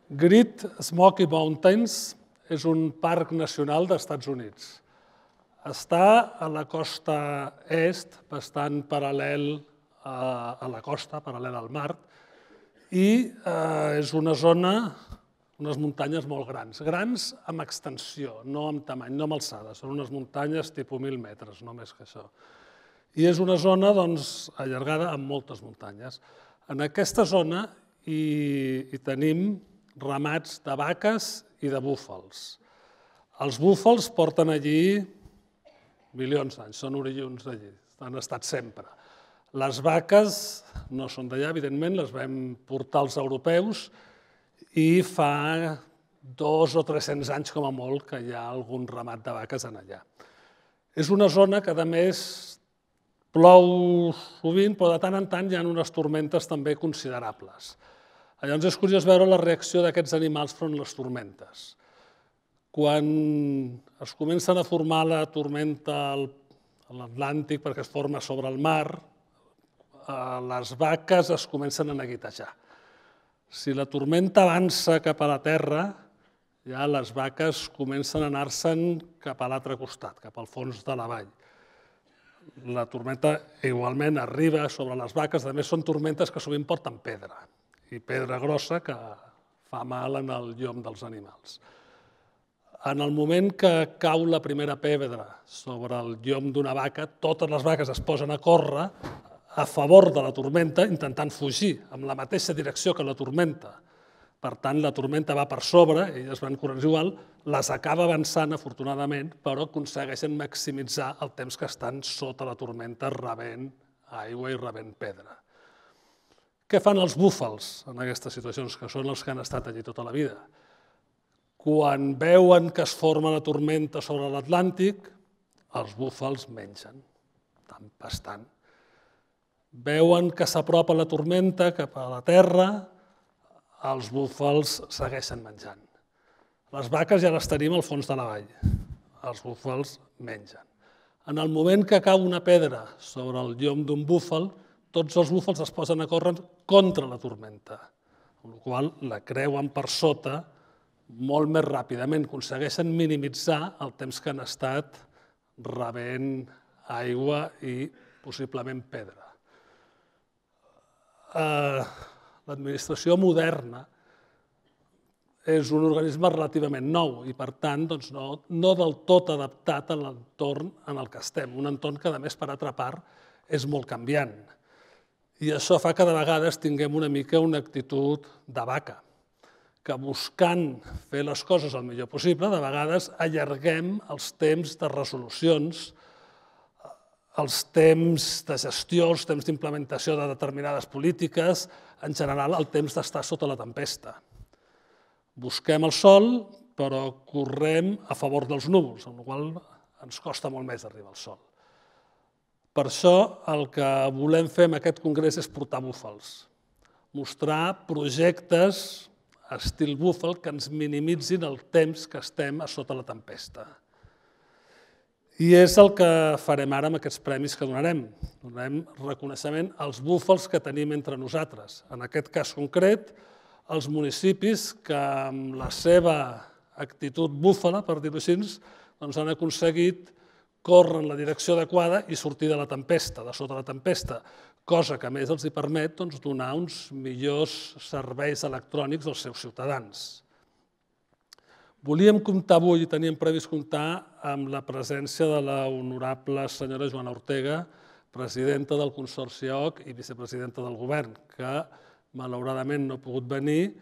Great Smoky Mountains és un parc nacional dels Estats Units. Està a la costa est, bastant paral·lel a la costa, paral·lel al mar, i és una zona, unes muntanyes molt grans. Grans amb extensió, no amb tamany, no amb alçada. Són unes muntanyes tipus 1.000 metres, no més que això. I és una zona allargada amb moltes muntanyes. En aquesta zona hi tenim ramats de vaques i de búfals. Els búfals porten allí milions d'anys, són oriünds d'allí, han estat sempre. Les vaques no són d'allà, evidentment, les vam portar els europeus i fa 200 o 300 anys, com a molt, que hi ha algun ramat de vaques allà. És una zona que, a més, plou sovint, però de tant en tant hi ha unes tormentes també considerables. Llavors és curiós veure la reacció d'aquests animals front a les tormentes. Quan es comencen a formar la tormenta a l'Atlàntic perquè es forma sobre el mar, les vaques es comencen a neguitejar. Si la tormenta avança cap a la terra, ja les vaques comencen a anar-se'n cap a l'altre costat, cap al fons de la vall. La tormenta igualment arriba sobre les vaques, a més són tormentes que sovint porten pedra, i pedra grossa que fa mal en el llom dels animals. En el moment que cau la primera pedra sobre el llom d'una vaca, totes les vaques es posen a córrer a favor de la tormenta, intentant fugir en la mateixa direcció que la tormenta. Per tant, la tormenta va per sobre, elles van corrent igual, les acaba avançant, afortunadament, però aconsegueixen maximitzar el temps que estan sota la tormenta rebent aigua i rebent pedra. Què fan els búfals en aquestes situacions, que són els que han estat allí tota la vida? Quan veuen que es forma la tormenta sobre l'Atlàntic, els búfals mengen, bastant. Veuen que s'apropa la tormenta cap a la terra, els búfals segueixen menjant. Les vaques ja les tenim al fons de la vall, els búfals mengen. En el moment que cau una pedra sobre el llom d'un búfal, tots els búfals es posen a córrer contra la tormenta, amb la qual cosa la creuen per sota molt més ràpidament, aconsegueixen minimitzar el temps que han estat rebent aigua i possiblement pedra. L'administració moderna és un organisme relativament nou i, per tant, no del tot adaptat a l'entorn en el que estem, un entorn que, a més, per altra part, és molt canviant. I això fa que de vegades tinguem una mica una actitud de vaca, que buscant fer les coses el millor possible, de vegades allarguem els temps de resolucions, els temps de gestió, els temps d'implementació de determinades polítiques, en general el temps d'estar sota la tempesta. Busquem el sol, però correm a favor dels núvols, amb la qual cosa ens costa molt més arribar al sol. Per això el que volem fer en aquest congrés és portar búfals, mostrar projectes estil búfal que ens minimitzin el temps que estem a sota la tempesta. I és el que farem ara amb aquests premis que donarem. Donarem reconeixement als búfals que tenim entre nosaltres. En aquest cas concret, els municipis que amb la seva actitud búfala, per dir-ho així, han aconseguit córrer en la direcció adequada i sortir de la tempesta, de sota la tempesta, cosa que a més els permet donar uns millors serveis electrònics als seus ciutadans. Volíem comptar avui, i teníem previst comptar, amb la presència de la honorable senyora Joana Ortega, presidenta del Consorci EOC i vicepresidenta del Govern, que malauradament no ha pogut venir.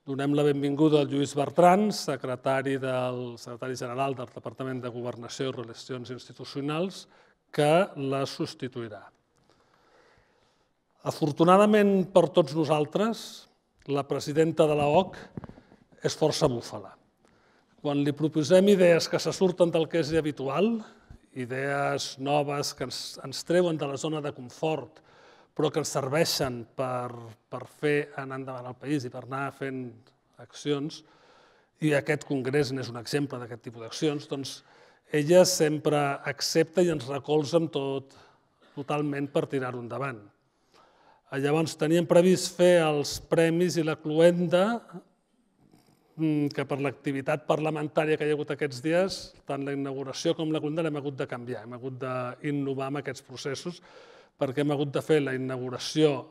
Donem la benvinguda al Lluís Bertran, secretari general del Departament de Governació i Relacions Institucionals, que la substituirà. Afortunadament per tots nosaltres, la presidenta de l'EOC és força búfala. Quan li proposem idees que se surten del que és habitual, idees noves que ens treuen de la zona de confort, però que ens serveixen per fer anar endavant el país i per anar fent accions, i aquest congrés n'és un exemple d'aquest tipus d'accions, doncs ella sempre accepta i ens recolza amb totalment per tirar-ho endavant. Llavors teníem previst fer els premis i la cloenda que per l'activitat parlamentària que hi ha hagut aquests dies, tant la inauguració com la calendar hem hagut de canviar, hem hagut d'innovar amb aquests processos, perquè hem hagut de fer la inauguració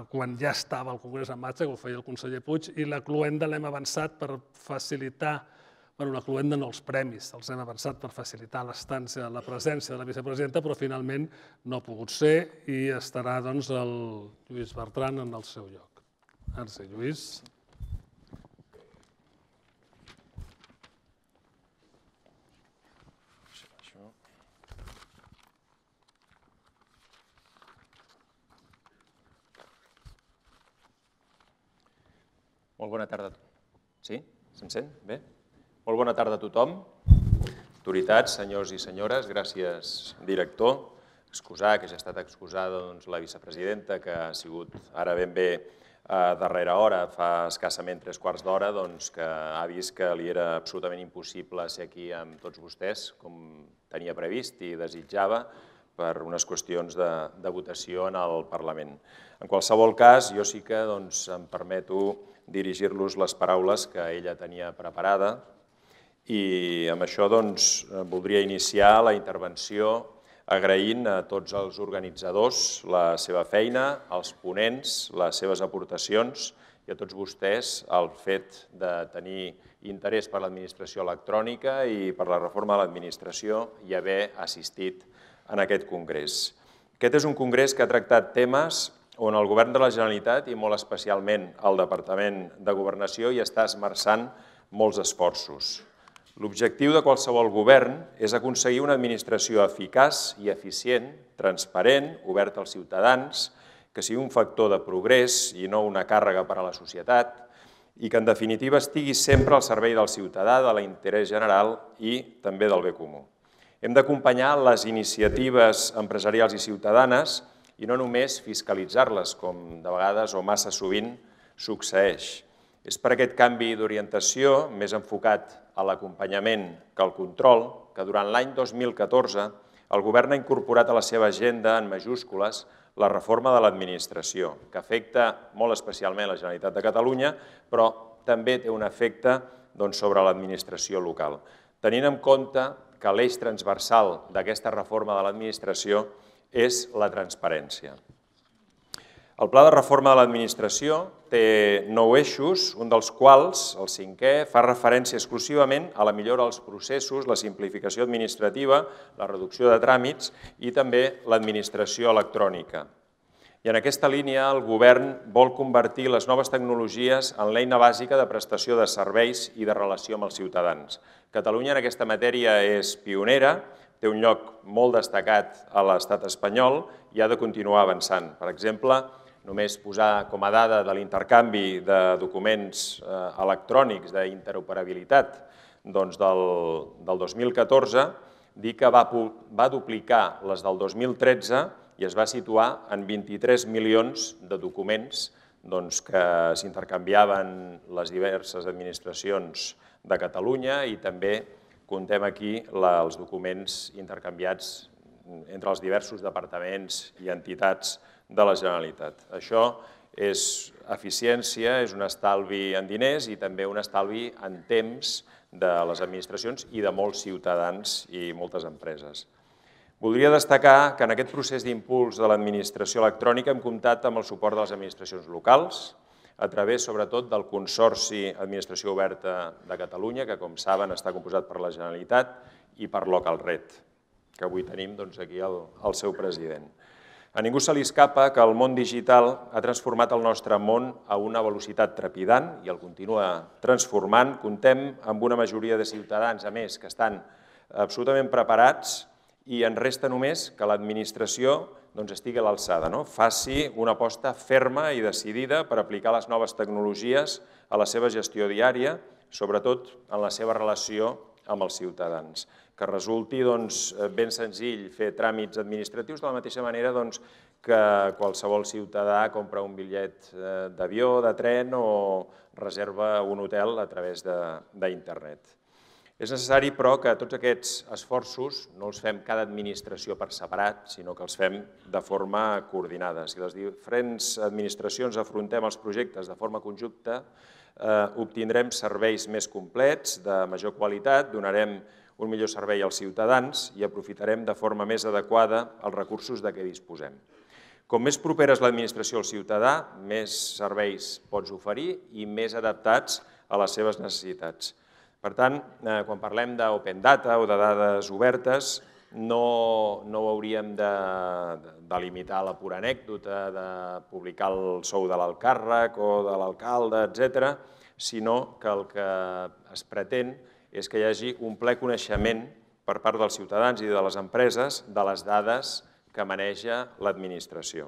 quan ja estava el Congrés en marxa, que ho feia el conseller Puig, i la cloenda l'hem avançat per facilitar, bueno, la cloenda no, els premis, els hem avançat per facilitar l'estància, la presència de la vicepresidenta, però finalment no ha pogut ser i estarà doncs el Lluís Bertran en el seu lloc. Gràcies, Lluís. Molt bona tarda. Sí? Se'm sent? Bé? Molt bona tarda a tothom. Autoritats, senyors i senyores, gràcies, director. Excusar, que ja ha estat excusada la vicepresidenta, que ha sigut ara ben bé a darrera hora, fa escassament 3/4 d'hora, que ha vist que li era absolutament impossible ser aquí amb tots vostès, com tenia previst i desitjava, per unes qüestions de votació en el Parlament. En qualsevol cas, jo sí que em permeto dirigir-los les paraules que ella tenia preparada i amb això voldria iniciar la intervenció agraint a tots els organitzadors la seva feina, als ponents, les seves aportacions i a tots vostès el fet de tenir interès per l'administració electrònica i per la reforma de l'administració i haver assistit en aquest congrés. Aquest és un congrés que ha tractat temes on el Govern de la Generalitat i molt especialment el Departament de Governació hi està esmerçant molts esforços. L'objectiu de qualsevol govern és aconseguir una administració eficaç i eficient, transparent, oberta als ciutadans, que sigui un factor de progrés i no una càrrega per a la societat i que en definitiva estigui sempre al servei del ciutadà, de l'interès general i també del bé comú. Hem d'acompanyar les iniciatives empresarials i ciutadanes i no només fiscalitzar-les, com de vegades o massa sovint succeeix. És per aquest canvi d'orientació, més enfocat a l'acompanyament que al control, que durant l'any 2014 el Govern ha incorporat a la seva agenda, en majúscules, la reforma de l'administració, que afecta molt especialment la Generalitat de Catalunya, però també té un efecte sobre l'administració local. Tenint en compte que l'eix transversal d'aquesta reforma de l'administració és la transparència. El pla de reforma de l'administració té 9 eixos, un dels quals, el 5è, fa referència exclusivament a la millora dels processos, la simplificació administrativa, la reducció de tràmits i també l'administració electrònica. I en aquesta línia el Govern vol convertir les noves tecnologies en l'eina bàsica de prestació de serveis i de relació amb els ciutadans. Catalunya en aquesta matèria és pionera, té un lloc molt destacat a l'estat espanyol i ha de continuar avançant. Per exemple, només posar com a dada de l'intercanvi de documents electrònics d'interoperabilitat del 2014, dir que va duplicar les del 2013 i es va situar en 23 milions de documents que s'intercanviaven les diverses administracions de Catalunya i també comptem aquí els documents intercanviats entre els diversos departaments i entitats de la Generalitat. Això és eficiència, és un estalvi en diners i també un estalvi en temps de les administracions i de molts ciutadans i moltes empreses. Voldria destacar que en aquest procés d'impuls de l'administració electrònica hem comptat amb el suport de les administracions locals, a través, sobretot, del Consorci Administració Oberta de Catalunya, que, com saben, està composat per la Generalitat i per Localred, que avui tenim aquí el seu president. A ningú se li escapa que el món digital ha transformat el nostre món a una velocitat trepidant i el continua transformant. Comptem amb una majoria de ciutadans, a més, que estan absolutament preparats i ens resta només que l'administració estigui a l'alçada, faci una aposta ferma i decidida per aplicar les noves tecnologies a la seva gestió diària, sobretot en la seva relació amb els ciutadans. Que resulti ben senzill fer tràmits administratius de la mateixa manera que qualsevol ciutadà compra un bitllet d'avió, de tren o reserva un hotel a través d'internet. És necessari, però, que tots aquests esforços no els fem cada administració per separat, sinó que els fem de forma coordinada. Si les diferents administracions afrontem els projectes de forma conjunta, obtindrem serveis més complets, de major qualitat, donarem un millor servei als ciutadans i aprofitarem de forma més adequada els recursos de què disposem. Com més propera és l'administració al ciutadà, més serveis pots oferir i més adaptats a les seves necessitats. Per tant, quan parlem d'open data o de dades obertes, no hauríem de limitar la pura anècdota, de publicar el sou de l'alcàrrec o de l'alcalde, etc., sinó que el que es pretén és que hi hagi un ple coneixement per part dels ciutadans i de les empreses de les dades que maneja l'administració.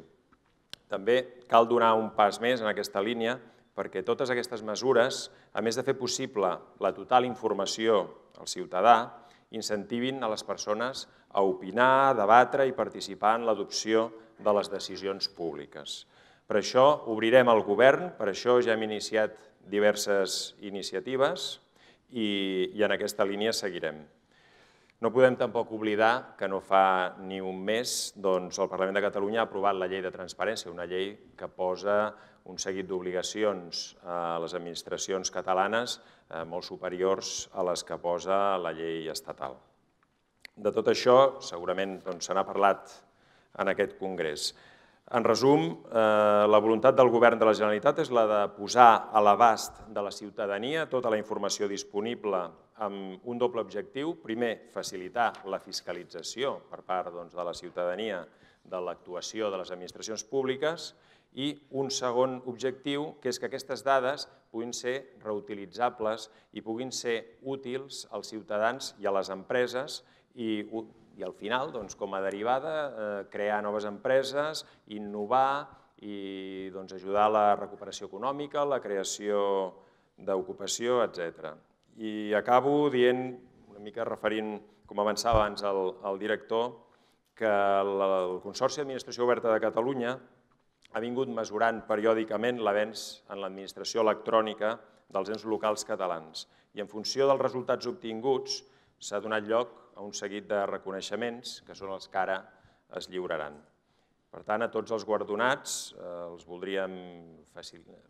També cal donar un pas més en aquesta línia perquè totes aquestes mesures, a més de fer possible la total informació al ciutadà, incentivin a les persones a opinar, a debatre i participar en l'adopció de les decisions públiques. Per això obrirem el govern, per això ja hem iniciat diverses iniciatives i en aquesta línia seguirem. No podem tampoc oblidar que no fa ni un mes el Parlament de Catalunya ha aprovat la llei de transparència, una llei que posa un seguit d'obligacions a les administracions catalanes molt superiors a les que posa la llei estatal. De tot això segurament se n'ha parlat en aquest congrés. En resum, la voluntat del Govern de la Generalitat és la de posar a l'abast de la ciutadania tota la informació disponible amb un doble objectiu. Primer, facilitar la fiscalització per part de la ciutadania de l'actuació de les administracions públiques i un segon objectiu, que és que aquestes dades puguin ser reutilitzables i puguin ser útils als ciutadans i a les empreses i al final, com a derivada, crear noves empreses, innovar i ajudar a la recuperació econòmica, la creació d'ocupació, etc. I acabo dient, una mica referint, com avançava abans el director, que el Consorci d'Administració Oberta de Catalunya ha vingut mesurant periòdicament l'avenç en l'administració electrònica dels ens locals catalans i en funció dels resultats obtinguts s'ha donat lloc a un seguit de reconeixements que són els que ara es lliuraran. Per tant, a tots els guardonats els voldríem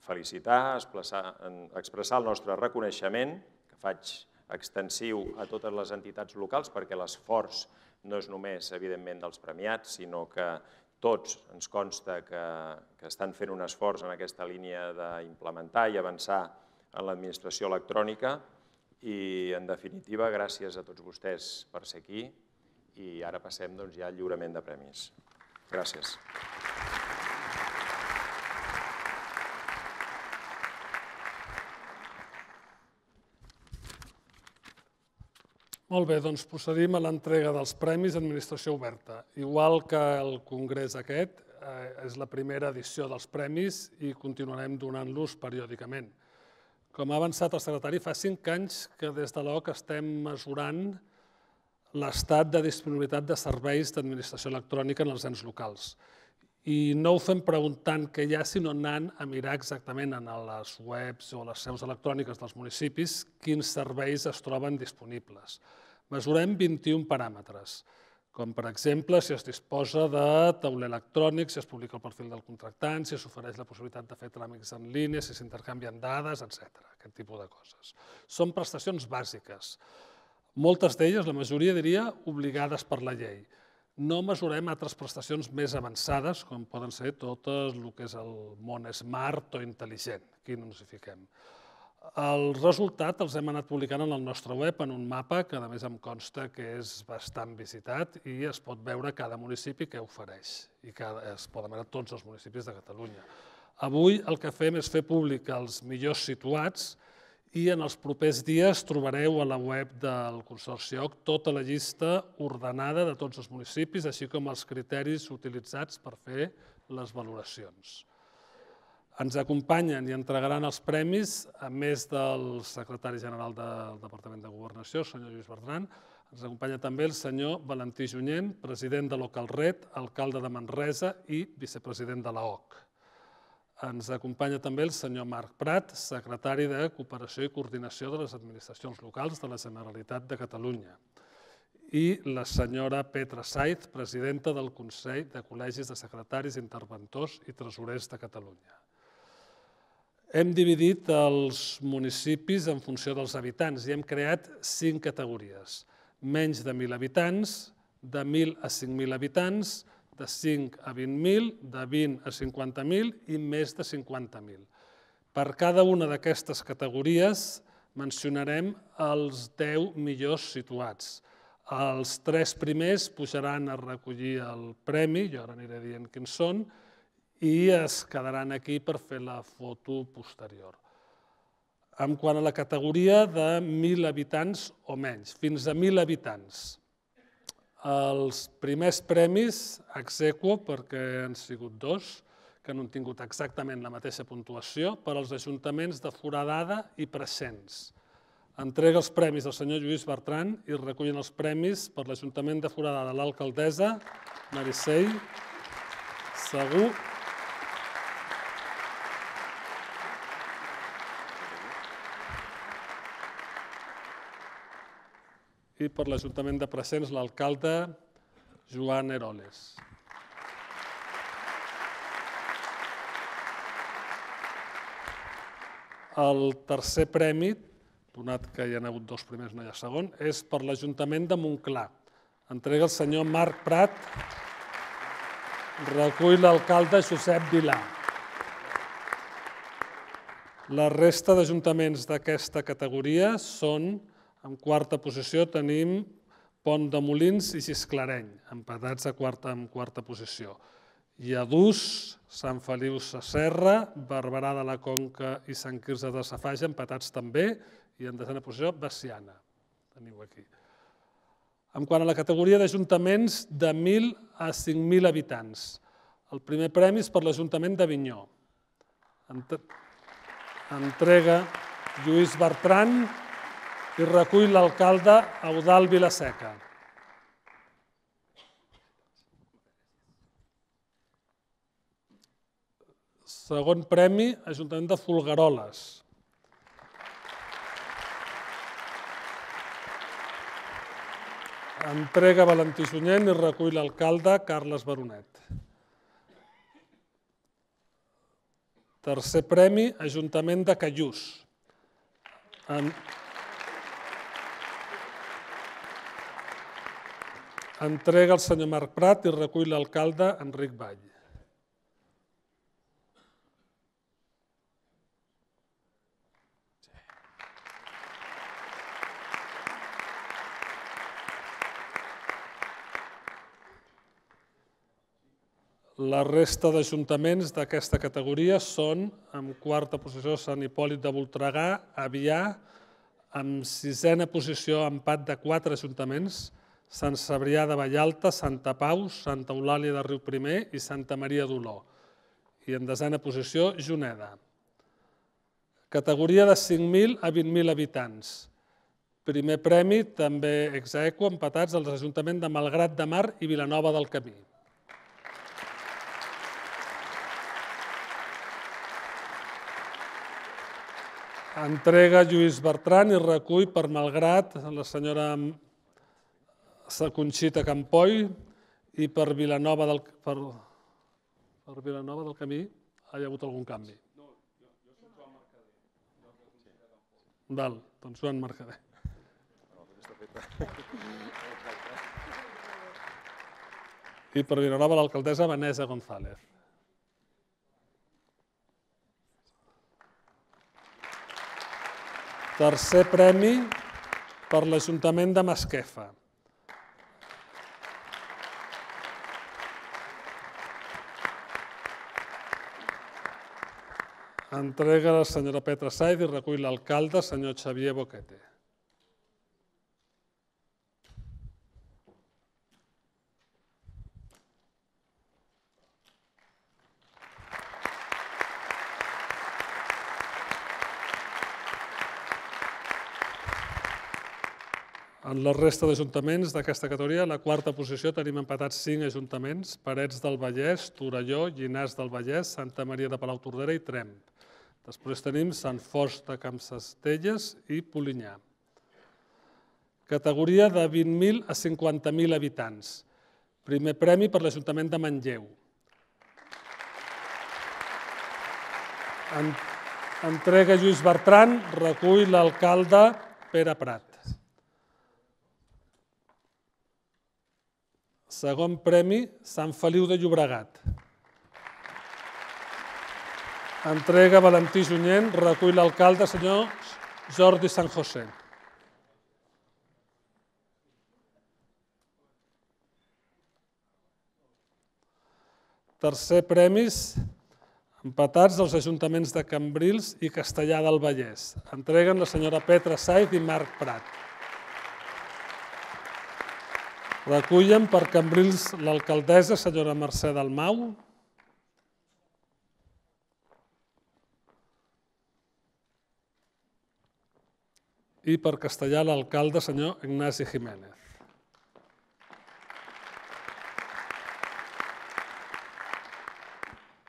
felicitar, expressar el nostre reconeixement, que faig extensiu a totes les entitats locals, perquè l'esforç no és només, evidentment, dels premiats, sinó que tots ens consta que estan fent un esforç en aquesta línia d'implementar i avançar en l'administració electrònica i, en definitiva, gràcies a tots vostès per ser aquí i ara passem ja al lliurament de premis. Gràcies. Molt bé, doncs procedim a l'entrega dels Premis d'Administració Oberta. Igual que el congrés aquest, és la primera edició dels premis i continuarem donant-los periòdicament. Com ha avançat el secretari, fa 5 anys que des de l'OC estem mesurant l'estat de disponibilitat de serveis d'administració electrònica en els ens locals. I no ho fem preguntant què hi ha, sinó anant a mirar exactament en les webs o les seus electròniques dels municipis quins serveis es troben disponibles. Mesurem 21 paràmetres, com per exemple si es disposa de tauler electrònic, si es publica el perfil del contractant, si s'ofereix la possibilitat de fer tràmits en línia, si s'intercanvien dades, etc. Aquest tipus de coses. Són prestacions bàsiques. Moltes d'elles, la majoria diria, obligades per la llei. No mesurem altres prestacions més avançades, com poden ser tot el que és el món smart o intel·ligent. Aquí no ens hi fiquem. El resultat els hem anat publicant en el nostre web, en un mapa que a més em consta que és bastant visitat i es pot veure cada municipi què ofereix i es poden veure tots els municipis de Catalunya. Avui el que fem és fer públic els millors situats i en els propers dies trobareu a la web del Consorci OC tota la llista ordenada de tots els municipis, així com els criteris utilitzats per fer les valoracions. Ens acompanyen i entregaran els premis, a més del secretari general del Departament de Governació, el senyor Lluís Bertran, ens acompanya també el senyor Valentí Junyent, president de l'Ocalret, alcalde de Manresa i vicepresident de l'OC. Ens acompanya també el senyor Marc Prat, secretari de Cooperació i Coordinació de les Administracions Locals de la Generalitat de Catalunya. I la senyora Petra Saiz, presidenta del Consell de Col·legis de Secretaris, Interventors i Tresorers de Catalunya. Hem dividit els municipis en funció dels habitants i hem creat 5 categories. Menys de 1.000 habitants, de 1.000 a 5.000 habitants, de 5 a 20.000, de 20 a 50.000 i més de 50.000. Per cada una d'aquestes categories mencionarem els 10 millors situats. Els 3 primers pujaran a recollir el premi, jo ara aniré dient quins són, i es quedaran aquí per fer la foto posterior. En quant a la categoria de 1.000 habitants o menys, fins a 1.000 habitants. Els primers premis ex aequo, perquè han sigut 2, que no han tingut exactament la mateixa puntuació, per als ajuntaments de Foradada i Preixens. Entrega els premis al senyor Lluís Bertran i recullen els premis per l'Ajuntament de Foradada l'alcaldessa Meritxell Segú i per l'Ajuntament de Preixens l'alcalde Joan Eroles. El tercer premi, donat que hi ha hagut 2 primers, no hi ha segon, és per l'Ajuntament de Montclar. Entrega el senyor Marc Prat, recull l'alcalde Josep Vilà. La resta d'ajuntaments d'aquesta categoria són, en quarta posició tenim Pont de Molins i Gisclareny, empatats en quarta posició. Lladús, Sant Feliu Sasserra, Barberà de la Conca i Sant Quirze de Safaja, empatats també, i en desena posició Veciana. Teniu aquí. En quant a la categoria d'ajuntaments de 1.000 a 5.000 habitants, el primer premi és per l'Ajuntament d'Avinyó. Entrega Lluís Bertran i recull l'alcalde Eudald Vilaseca. Segon premi, Ajuntament de Folgueroles. Entrega Valentí Junyent i recull l'alcalde Carles Baronet. Tercer premi, Ajuntament de Callús. Entrega el senyor Marc Prat i recull l'alcalde Enric Vall. La resta d'ajuntaments d'aquesta categoria són, en quarta posició, Sant Hipòlit de Voltregà, Avià, en sisena posició, empat de 4 ajuntaments, Sant Cebrià de Vallalta, Santa Pau, Santa Eulàlia de Riuprimer i Santa Maria d'Oló. I en desena posició, Juneda. Categoria de 5.000 a 20.000 habitants. Primer premi, també ex aequo, empatats els ajuntaments de Malgrat de Mar i Vilanova del Camí. Entrega Lluís Bertran i recull per Malgrat la senyora Conxita Campoy i per Vilanova del Camí hi ha hagut algun canvi? No, jo soc Joan Mercader. Val, doncs Joan Mercader. I per Vilanova l'alcaldessa Vanessa González. Tercer premi per l'Ajuntament de Masquefa. Entrega la senyora Petra Saiz i recull l'alcalde, senyor Xavier Boquete. En la resta d'ajuntaments d'aquesta categoria, a la quarta posició tenim empatats 5 ajuntaments, Parets del Vallès, Torelló, Llinars del Vallès, Santa Maria de Palautordera i Tremp. Després tenim Sant Fost de Campsestelles i Polinyà. Categoria de 20.000 a 50.000 habitants. Primer premi per l'Ajuntament de Manlleu. Entrega Lluís Bertran, recull l'alcalde Pere Prat. Segon premi, Sant Feliu de Llobregat. Entrega Valentí Junyent, recull l'alcalde senyor Jordi San José. Tercer premis, empatats els ajuntaments de Cambrils i Castellar del Vallès. Entreguen la senyora Petra Saiz i Marc Prat. Recullen per Cambrils l'alcaldessa senyora Mercè Dalmau. I per Castellar l'alcalde senyor Ignasi Jiménez.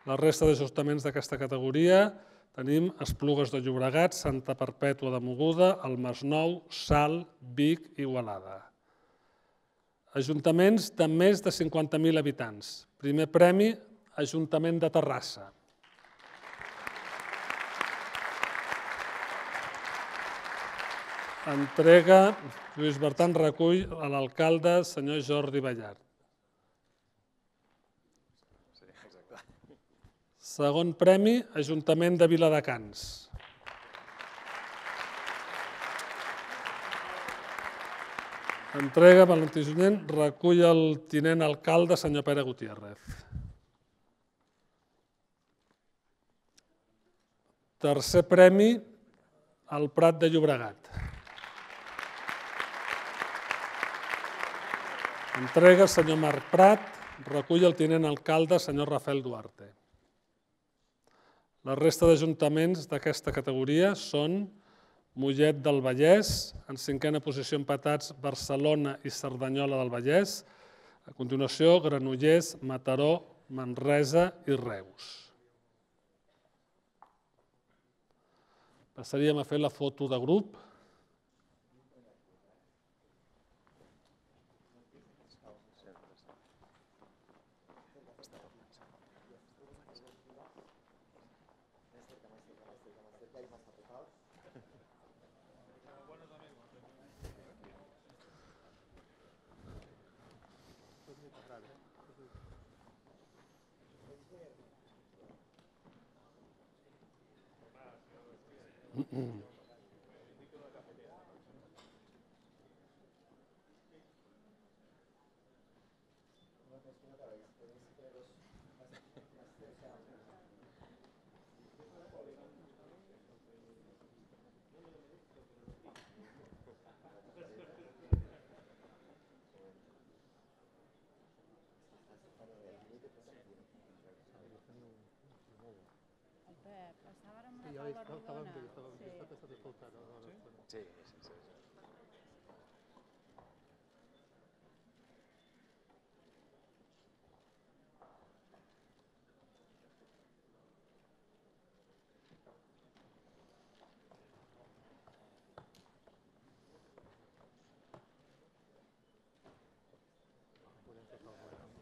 La resta d'ajustaments d'aquesta categoria tenim Esplugues de Llobregat, Santa Perpètua de Mogoda, el Masnou, Salt, Vic i Igualada. Ajuntaments de més de 50.000 habitants. Primer premi, Ajuntament de Terrassa. Entrega, Lluís Bertran recull a l'alcalde senyor Jordi Ballart. Segon premi, Ajuntament de Viladecans. Entrega Valentí Junyent, recull el tinent alcalde senyor Pere Gutiérrez. Tercer premi, el Prat de Llobregat. Entrega senyor Marc Prat, recull el tinent alcalde senyor Rafael Duarte. La resta d'ajuntaments d'aquesta categoria són Mollet del Vallès, en cinquena posició empatats Barcelona i Cerdanyola del Vallès, a continuació Granollers, Mataró, Manresa i Reus. Passaríem a fer la foto de grup.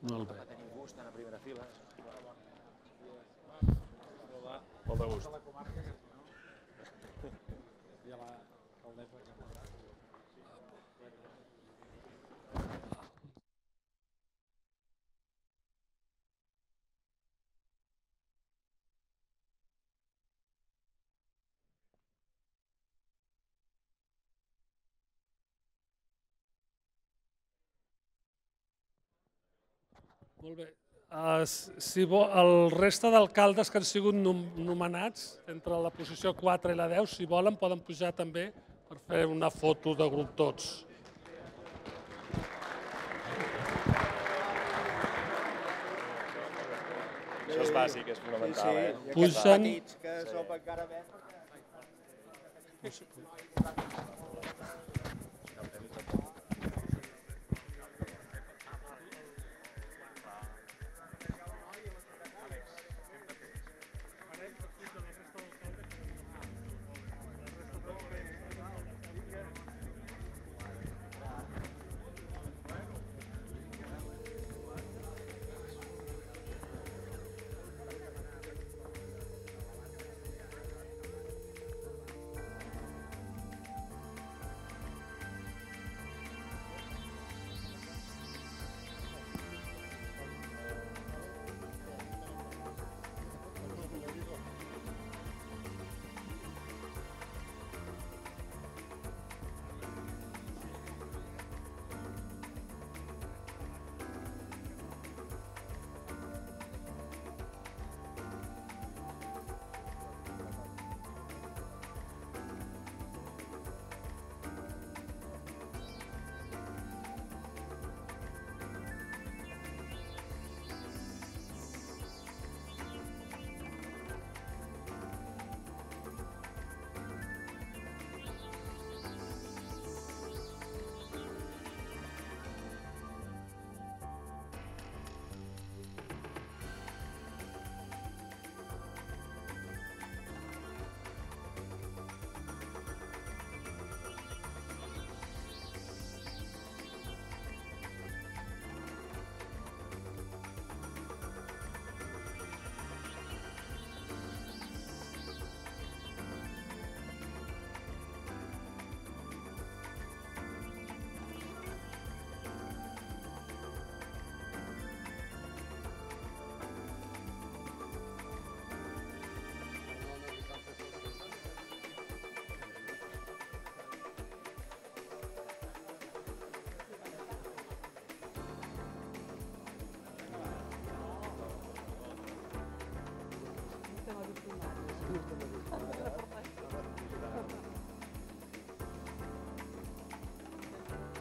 Molt bé. Va tenir gust en la primera fila. Molt de gust. Molt bé. Si el resta d'alcaldes que han sigut nomenats entre la posició 4 i la 10, si volen, poden pujar també per fer una foto de grup tots. Això és bàsic, és fonamental. Pugen.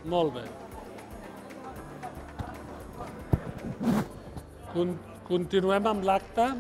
Molt bé. Continuem amb l'acte.